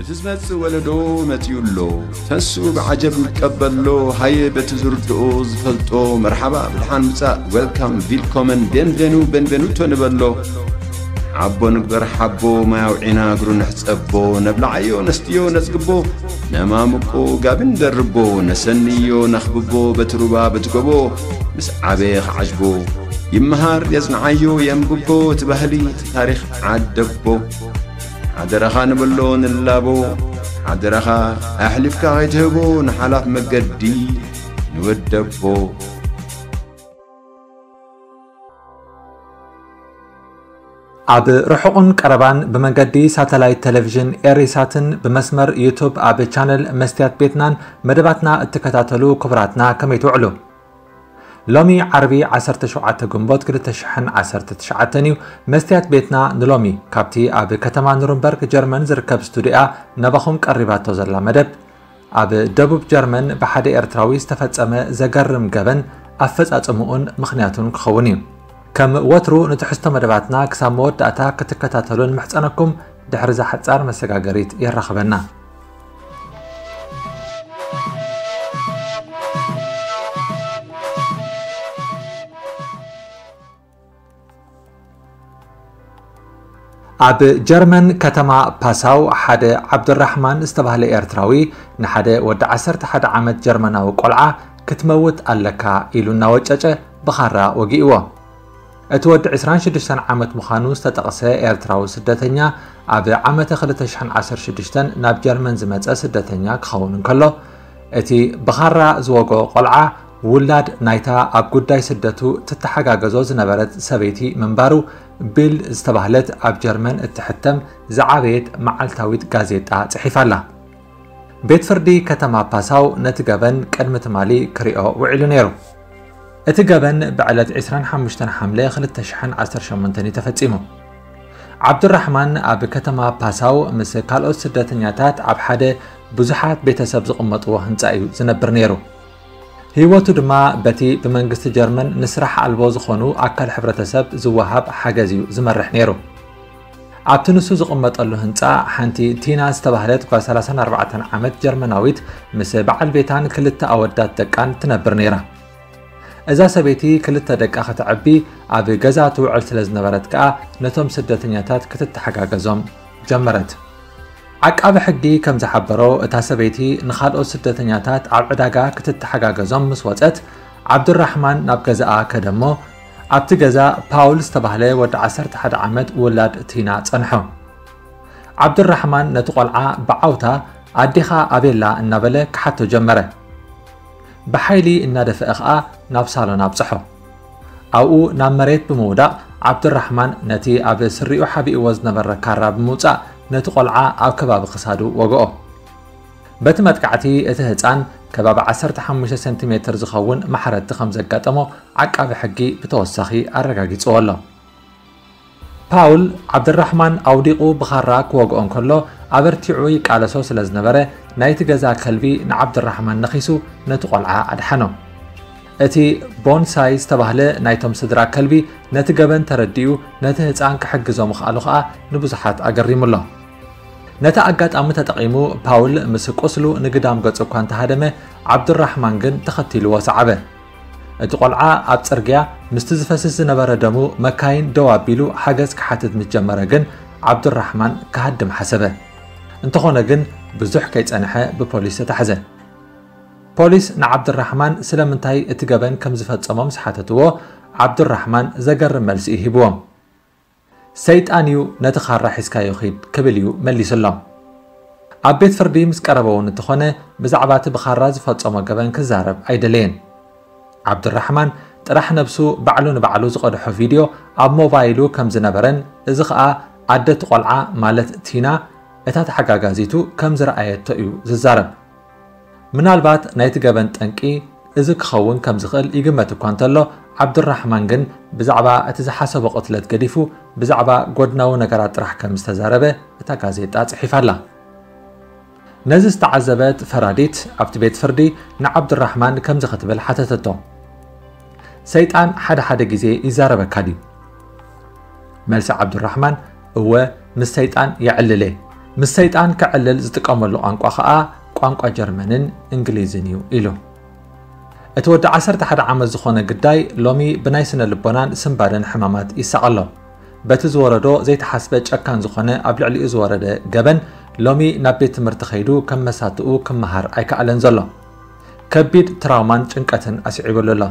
እቲ ዝመጽእ ወለዶ መጺኡ ኣሎ። ተስኡ ብዓጀብ ይቀበሎ። ሃየ በቲ ዝርድኦ ዝፈልጦ መርሓባ ብድሓን ምጻእ፣ ዌልካም፣ ቪልኮመን፣ ቤንቬኑ፣ ቤንቬኑቶ ንበሎ። ሓቦ ንግበር ሓቦ፣ ማይ ኣውዒና እግሩ ንሕጸቦ። ነብልዓዮ ነስትዮ ነጽግቦ፣ ነማምቆ ጋቢ ንደርቦ። ነሰንዮ ነኽብቦ በቲ ሩባ በቲ ጎቦ። ምስ ዓበየ ክዓጅቦ ይመሃር የጽንዓዮ የንብቦ። እቲ ባህሊ እቲ ታሪኽ ዓደቦ። ሓደራኻ ንበሎ ንላቦ። ሓደራኻ ኣሕሊፍካ ከይትህቦ ንሓላፍ መገዲ ንወደቦ። ኣብ ርሑቕን ቀረባን ብመንገዲ ሳተላይት ቴሌቪዥን ኤሪሳትን ብመስመር ዩቱብ ኣብ ቻነል መስትያት ቤትናን መደባትና እትከታተሉ ክቡራትና ከመይ ትውዕሉ? ሎሚ ዓርቢ ዓሰርተ ሸውዓተ ግንቦት ክልተ ሽሕን ዓሰርተ ትሽዓተን እዩ። መስትያት ቤትና ንሎሚ ካብቲ ኣብ ከተማ ኑርንበርግ ጀርመን ዝርከብ ስቱዲያ ናባኹም ቀሪባቶ ዘላ መደብ፣ ኣብ ደቡብ ጀርመን ብሓደ ኤርትራዊ ዝተፈጸመ ዘገርም ገበን ኣፈጻጽምኡን ምኽንያቱን ክኸውን እዩ። ከም ወትሩ ንትሕዝቶ መደባትና ክሳብ መወዳእታ ክትከታተሉ ንምሕጸነኩም። ድሕሪ እዛ ሓጻር መሰጋገሪት የራኽበና። ኣብ ጀርመን ከተማ ፓሳው ሓደ ዓብዱራሕማን ዝተባህለ ኤርትራዊ ንሓደ ወዲ ዓሰርተ ሓደ ዓመት ጀርመናዊ ቆልዓ ክትመውት ኣለካ ኢሉ እናወጨጨ ብኻራ ወጊእዎ። እቲ ወዲ ዕስራን ሽዱሽተን ዓመት ምዃኑ ዝተጠቕሰ ኤርትራዊ ስደተኛ ኣብ ዓመተ ክልተ ሽሕን ዓሰርተ ሽዱሽተን ናብ ጀርመን ዝመጸ ስደተኛ ክኸውን እንከሎ፣ እቲ ብኻራ ዝወግኦ ቆልዓ ውላድ ናይታ ኣብ ጉዳይ ስደቱ ትተሓጋገዞ ዝነበረት ሰበይቲ ምንባሩ ቢልድ ዝተባህለት ኣብ ጀርመን እትሕተም ዝዓበየት መዓልታዊት ጋዜጣ ጽሒፋ ኣላ። ቤት ፍርዲ ከተማ ፓሳው ነቲ ገበን ቅድሚ ትማሊ ክሪኦ ውዒሉ ነይሩ። እቲ ገበን ብዕለት ዕስራን ሓሙሽተን ሓምለ ክልተ ሽሕን ዓሰርተ ሸሞንተን እዩ ተፈጺሙ። ዓብዱራሕማን ኣብ ከተማ ፓሳው ምስ ካልኦት ስደተኛታት ኣብ ሓደ ብዙሓት ቤተሰብ ዝቕመጥዎ ህንጻ እዩ ዝነብር ነይሩ። ህይወቱ ድማ በቲ ብመንግስቲ ጀርመን ንስራሕ ኣልቦ ዝኾኑ ኣካል ሕብረተሰብ ዝወሃብ ሓገዝ እዩ ዝመርሕ ነይሩ። ኣብቲ ንሱ ዝቕመጠሉ ህንጻ ሓንቲ ቲና ዝተባህለት ጓል ሰላሳን ኣርባዕተን ዓመት ጀርመናዊት ምስ በዓል ቤታን ክልተ ኣወዳት ደቃን ትነብር ነይራ። እዛ ሰበይቲ ክልተ ደቃ ከተዕቢ ኣብ ገዛ ትውዕል ስለ ዝነበረት ከኣ ነቶም ስደተኛታት ክትተሓጋገዞም ጀመረት። ዓቃቢ ሕጊ ከም ዝሓበሮ፣ እታ ሰበይቲ ንኻልኦት ስደተኛታት ኣብ ዕዳጋ ክትተሓጋገዞም ምስ ወጸት፣ ዓብዱራሕማን ናብ ገዛኣ ከደሞ፣ ኣብቲ ገዛ ፓውል ዝተባህለ ወዲ ዓሰርተ ሓደ ዓመት ውላድ ቲና ጸንሖ። ዓብዱራሕማን ነቲ ቆልዓ ብዓውታ "ኣዴኻ ኣበይ ኣላ?" እናበለ ክሓቶ ጀመረ። ብሓይሊ እናደፍአ ኸኣ ናብ ሳሎን ኣብጽሖ። ኣብኡ ናብ መሬት ብምውዳቕ፣ ዓብዱራሕማን ነቲ ኣብ ስሪኡ ሓቢእዎ ዝነበረ ካራ ብምውጻእ፣ ነቲ ቆልዓ ኣብ ከባቢ ክሳዱ ወግኦ። በቲ መጥቃዕቲ፣ እቲ ህጻን ከባቢ ዓሰርተ ሓሙሽተ ሰንቲሜትር ዝኸውን ማሕረድቲ ከም ዘጋጠሞ ዓቃቢ ሕጊ ብተወሳኺ ኣረጋጊጽዎ ኣሎ። ፓውል፣ ዓብድራሕማን ኣውዲቑ ብኻራ ክወግኦ እንከሎ፣ ኣበርቲዑ ይቃለሶ ስለ ዝነበረ፣ ናይቲ ገዛ ከልቢ ንዓብድራሕማን ነኺሱ ነቲ ቆልዓ ኣድሓኖ። እቲ ቦንሳይ ዝተባህለ ናይቶም ስድራ ከልቢ ነቲ ገበን ተረዲኡ ነቲ ህጻን ክሕግዞ ምኽኣሉ ኸኣ ንብዙሓት ኣገሪሙ ኣሎ። ነቲ ኣጋጣሚ ተጠቒሙ ፓውል ምስ ቁስሉ ንግዳም ገጹ እኳ እንተሃደመ፣ ዓብዱራሕማን ግን ተኸቲልዎ ሰዓበ። እቲ ቆልዓ ኣብ ጽርግያ ምስቲ ዝፈስስ ዝነበረ ደሙ መካይን ደው ኣቢሉ ሓገዝ ክሓትት ምስ ጀመረ ግን ዓብዱራሕማን ክሃድም ሓሰበ። እንተኾነ ግን ብዙሕ ከይጸንሐ ብፖሊስ ተታሕዘ። ፖሊስ ንዓብዱራሕማን ስለምንታይ እቲ ገበን ከም ዝፈጸሞ ምስ ሓተትዎ፣ ዓብዱራሕማን ዘገርም መልሲ እዩ ሂብዎም። "ሰይጣን እዩ፣ ነቲ ኻራ ሒዝካዮ ኺድ" ክብል እዩ መሊሱሎም። ኣብ ቤት ፍርዲ ምስ ቀረበ እውን እንተኾነ ብዛዕባ እቲ ብኻራ ዝፈጸሞ ገበን ክዛረብ ኣይደለየን። ዓብዱራሕማን ጥራሕ ነብሱ ባዕሉ ንባዕሉ ዝቐድሖ ቪድዮ ኣብ ሞባይሉ ከም ዝነበረን፣ እዚ ኸኣ ኣደ እቲ ቆልዓ ማለት ቲና እታ ተሓጋጋዚቱ ከም ዝረኣየቶ እዩ ዝዛረብ። ምናልባት ናይቲ ገበን ጠንቂ እዚ ክኸውን ከም ዝኽእል ይግመት እኳ እንተሎ፣ ዓብዱራሕማን ግን ብዛዕባ እቲ ዝሓሰቦ ቅትለት ገዲፉ ብዛዕባ ጎድናዊ ነገራት ጥራሕ ከም ዝተዛረበ እታ ጋዜጣ ጽሒፋ ኣላ። ነዚ ዝተዓዘበት ፈራዲት ኣብቲ ቤት ፍርዲ ንዓብዱራሕማን ከምዚ ክትብል ሓተተቶ፣ "ሰይጣን ሓደ ሓደ ግዜ ይዛረበካ ድዩ?" መልሲ ዓብዱራሕማን፣ "እወ፣ ምስ ሰይጣን የዕልል እየ። ምስ ሰይጣን ክዕልል ዝጥቀመሉ ቋንቋ ኸኣ ቋንቋ ጀርመንን እንግሊዝን እዩ ኢሉ። እቲ ወዲ ዓሰርተ ሓደ ዓመት ዝኾነ ግዳይ ሎሚ ብናይ ስነ ልቦናን ስንባደን ሕማማት ይሳቐ ኣሎ። በቲ ዝወረዶ ዘይተሓስበ ጨካን ዝኾነ ኣብ ልዕሊኡ ዝወረደ ገበን ሎሚ ናብ ቤት ትምህርቲ ከይዱ ከም መሳትኡ ክመሃር ኣይከኣለን ዘሎ። ከቢድ ትራውማን ጭንቀትን ኣስዒቡሉ ኣሎ።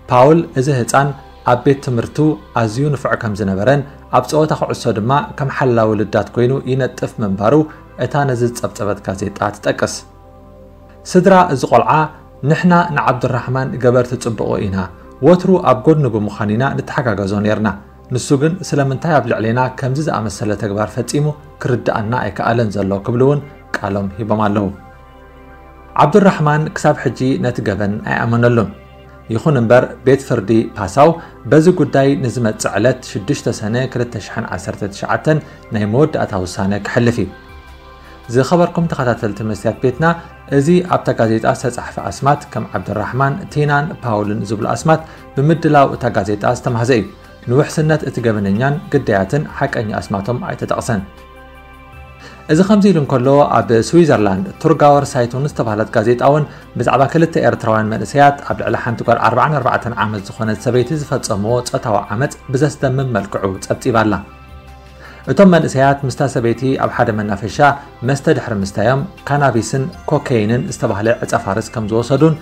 ፓውል እዚ ህፃን ኣብ ቤት ትምህርቱ ኣዝዩ ንፉዕ ከም ዝነበረን ኣብ ፀወታ ኩዕሶ ድማ ከም ሓላዊ ልዳት ኮይኑ ይነጥፍ ምንባሩ እታ ነዚ ዝፀብፀበት ጋዜጣ ትጠቅስ። ስድራ እዚ ቆልዓ፣ "ንሕና ንዓብዱራሕማን ገበርቲ ጽቡቑ ኢና፣ ወትሩ ኣብ ጎድኑ ብምዃን ኢና ንተሓጋገዞ ኔርና። ንሱ ግን ስለምንታይ ኣብ ልዕሌና ከምዚ ዝኣመሰለ ተግባር ፈጺሙ ክርድኣና ኣይከኣለን ዘሎ" ክብሉ እውን ቃሎም ሂቦም ኣለዉ። ዓብዱራሕማን ክሳብ ሕጂ ነቲ ገበን ኣይኣመነሉን። ይኹን እምበር፣ ቤት ፍርዲ ፓሳው በዚ ጉዳይ ንዝመጽእ ዕለት ሽዱሽተ ሰነ ክልተ ሽሕን ዓሰርተ ትሽዓተን ናይ መወዳእታ ውሳነ ክሕልፍ እዩ። ዝኸበርኩም ተኸታተልቲ መስትያት ቤትና፣ እዚ ኣብታ ጋዜጣ ዝተጻሕፈ ኣስማት ከም ዓብደራሕማን፣ ቲናን ፓውልን ዝብሉ ኣስማት ብምድላው እታ ጋዜጣ ዝተማህዘ እዩ። ንውሕስነት እቲ ገበነኛን ግዳያትን ሓቀኛ ኣስማቶም ኣይተጠቕሰን። እዚ ከምዚ ኢሉ እንከሎ፣ ኣብ ስዊዘርላንድ ቱርጋወር ሳይቱን ዝተባህለት ጋዜጣ እውን ብዛዕባ ክልተ ኤርትራውያን መንእሰያት ኣብ ልዕሊ ሓንቲ ጓል ኣርባዓን ኣርባዕተን ዓመት ዝኾነት ሰበይቲ ዝፈጸምዎ ጾታዊ ዓመጽ ብዘስደምም መልክዑ ጸብጺባ ኣላ። እቶም መንእሰያት ምስታ ሰበይቲ ኣብ ሓደ መናፈሻ መስተ ድሕሪ ምስታዮም፣ ካናቢስን ኮኬይንን ዝተባህለ ዕጸ ፋርስ ከም ዝወሰዱን፣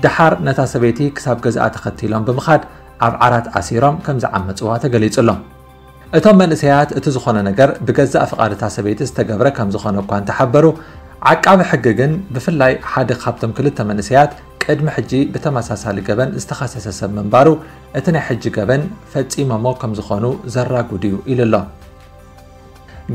ደሓር ነታ ሰበይቲ ክሳብ ገዝኣ ተኸቲሎም ብምኻድ ኣብ ዓራት ኣሲሮም ከም ዝዓመጽዋ ተገሊጹ ኣሎ። እቶም መንእሰያት እቲ ዝኾነ ነገር ብገዛእ ፍቓድ እታ ሰበይቲ ዝተገብረ ከም ዝኾነ እኳ እንተሓበሩ፣ ዓቃቢ ሕጊ ግን ብፍላይ ሓደ ካብቶም ክልተ መንእሰያት ቅድሚ ሕጂ ብተመሳሳሊ ገበን ዝተኸሰሰ ሰብ ምንባሩ፣ እቲ ናይ ሕጂ ገበን ፈጺሞሞ ከም ዝኾኑ ዘራጉድ እዩ ኢሉ ኣሎ።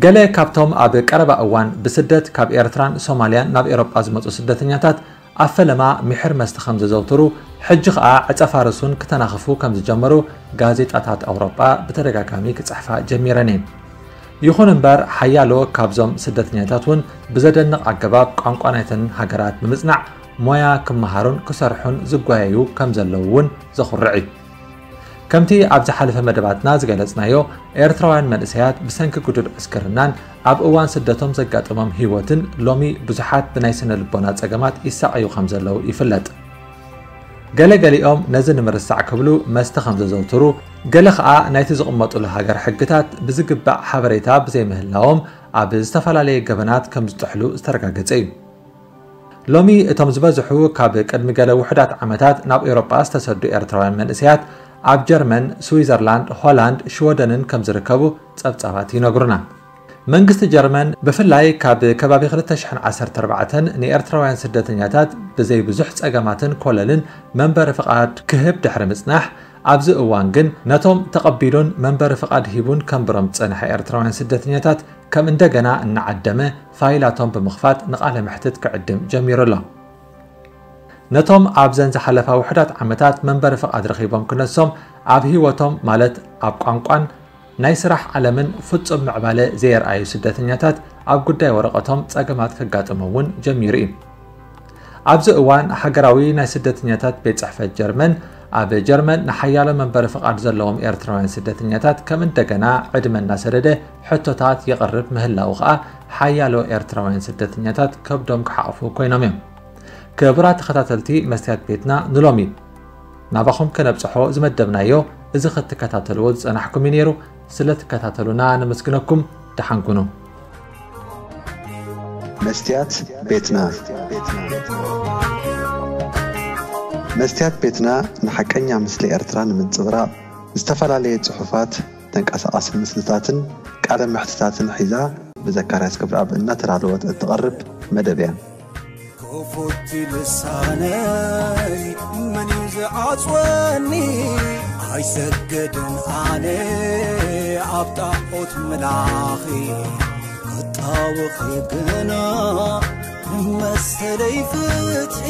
ገለ ካብቶም ኣብ ቀረባ እዋን ብስደት ካብ ኤርትራን ሶማልያን ናብ ኤውሮጳ ዝመጹ ስደተኛታት ኣብ ፈለማ ምሒር መስተ ከም ዘዘውትሩ፣ ሕጂ ኸኣ ዕጸ ፋርሱን ክተናኽፉ ከም ዝጀመሩ ጋዜጣታት ኣውሮጳ ብተደጋጋሚ ክጽሕፋ ጀሚረን እየን። ይኹን እምበር፣ ሓያሎ ካብዞም ስደተኛታት እውን ብዘደንቕ ኣገባብ ቋንቋ ናይተን ሃገራት ብምጽናዕ ሞያ ክመሃሩን ክሰርሑን ዝጓየዩ ከም ዘለዉ እውን ዘኹርዕ እዩ። ከምቲ ኣብ ዝሓለፈ መደባትና ዝገለጽናዮ፣ ኤርትራውያን መንእሰያት ብሰንኪ ግዱድ ዕስክርናን ኣብ እዋን ስደቶም ዘጋጠሞም ህይወትን ሎሚ ብዙሓት ብናይ ስነ ልቦና ጸገማት ይሳቐዩ ከም ዘለዉ ይፍለጥ። ገለ ገሊኦም ነዚ ንምርሳዕ ክብሉ መስተ ከም ዘዘውትሩ፣ ገለ ኸኣ ናይቲ ዝቕመጡሉ ሃገር ሕግታት ብዝግባእ ሓበሬታ ብዘይምህላዎም ኣብ ዝተፈላለየ ገበናት ከም ዝጥሕሉ ዝተረጋገጸ እዩ። ሎሚ እቶም ዝበዝሑ ካብ ቅድሚ ገለ ውሑዳት ዓመታት ናብ ኤውሮጳ ዝተሰዱ ኤርትራውያን መንእሰያት ኣብ ጀርመን፣ ስዊዘርላንድ፣ ሆላንድ፣ ሽወደንን ከም ዝርከቡ ጸብጻባት ይነግሩና። መንግስቲ ጀርመን ብፍላይ ካብ ከባቢ ክልተ ሽሕን ዓሰርተ ኣርባዕተን ንኤርትራውያን ስደተኛታት ብዘይ ብዙሕ ጸገማትን ኮለልን መንበሪ ፍቓድ ክህብ ድሕሪ ምጽናሕ፣ ኣብዚ እዋን ግን ነቶም ተቐቢሉን መንበሪ ፍቓድ ሂቡን ከንብሮም ዝጸንሐ ኤርትራውያን ስደተኛታት ከም እንደገና እናዓደመ ፋይላቶም ብምኽፋት ንቓለ መሕትት ክዕድም ጀሚሩ ኣሎ። ነቶም ኣብዘን ዝሓለፋ ውሑዳት ዓመታት መንበሪ ፍቓድ ረኺቦም ክነሶም ኣብ ህይወቶም ማለት ኣብ ቋንቋን ናይ ስራሕ ዓለምን ፍጹም ምዕባለ ዘየርኣዩ ስደተኛታት ኣብ ጉዳይ ወረቐቶም ጸገማት ከጋጥሞም እውን ጀሚሩ እዩ። ኣብዚ እዋን ሃገራዊ ናይ ስደተኛታት ቤት ጽሕፈት ጀርመን ኣብ ጀርመን ንሓያሎ መንበሪ ፍቓድ ዘለዎም ኤርትራውያን ስደተኛታት ከም እንደገና ዕድመ እናሰደደ ሕቶታት የቕርብ ምህላዉ ኸኣ ሓያሎ ኤርትራውያን ስደተኛታት ከብዶም ክሓቑፉ ኮይኖም እዮም። ክቡራት ተኸታተልቲ መስትያት ቤትና ንሎሚ ናባኹም ከነብጽሖ ዝመደብናዮ እዚ ክትከታተልዎ ዝጸናሕኩም እዩ ነይሩ። ስለ ትከታተሉና ነመስግነኩም። ደሓን ኩኑ። መስትያት ቤትና። መስትያት ቤትና ንሓቀኛ ምስሊ ኤርትራ ንምንጽብራቕ ዝተፈላለየ ጽሑፋት፣ ተንቀሳቓሲ ምስልታትን ቃለ መሕትታትን ሒዛ ብዘካርያስ ገብረኣብ እናተዳለወት እትቐርብ መደብ እያ። ክፉት ልሳነይ መን እዩ ዝዓጽወኒ? ኣይሰግድን ኣነ ኣብ ጣዖት ምላኺ፣ ክጣወኺ ግና መሰለይ ፍትሒ።